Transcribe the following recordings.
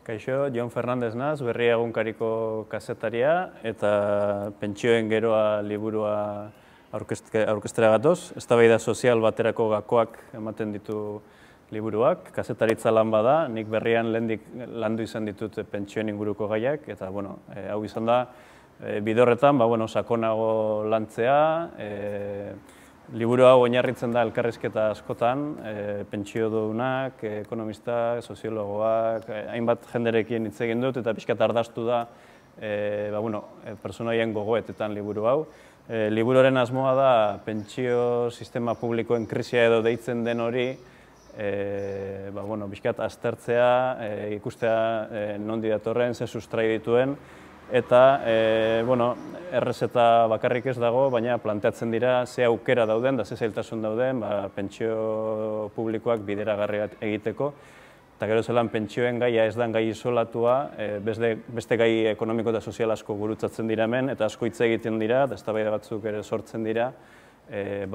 Kaixo, Jon Fernandez naz, Berria egunkariko kazetaria eta Pentsioen geroa liburua aurkeztera gatoz. Eztabaida sozial baterako gakoak ematen ditu liburuak. Kazetaritza lan bada, nik Berrian lehendik landu izan ditut pentsioen inguruko gaiak, eta hau izan da, bide horretan, sakonago lantzea, liburu hau oinarritzen da elkarrizketa askotan, pentsiodunak, ekonomistak, soziologoak, hainbat jenderekin hitz egin dut eta pixkat ardaztu da pertsonaien gogoetetan liburu hau. Liburuaren asmoa da pentsio sistema publikoen krisia edo deitzen den hori pixkat aztertzea, ikustea nondi datorren, ze sustrai dituen, eta errezeta bakarrik ez dago, baina planteatzen dira ze aukera dauden, da ze zailtasun dauden pentsio publikoak bideragarri egiteko. Eta gero zelan pentsioen gaia ez da gai isolatua, beste gai ekonomiko eta sozial asko gurutzatzen dira hemen, eta asko hitz egiten dira, eta eztabaida batzuk ere sortzen dira,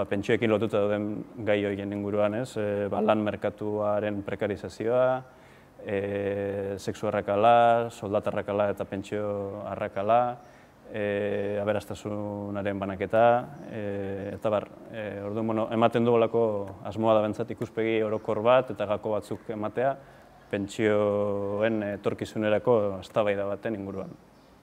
pentsioekin lotuta dauden gai horien inguruan, lan merkatuaren prekarizazioa, sexu arrakala, soldata arrakala eta pentsio arrakala, aberastasunaren banaketa, eta ematen dugulako asmoa da bentsat ikuspegi orokor bat eta gako batzuk ematea pentsioen etorkizunerako eztabaida baten inguruan.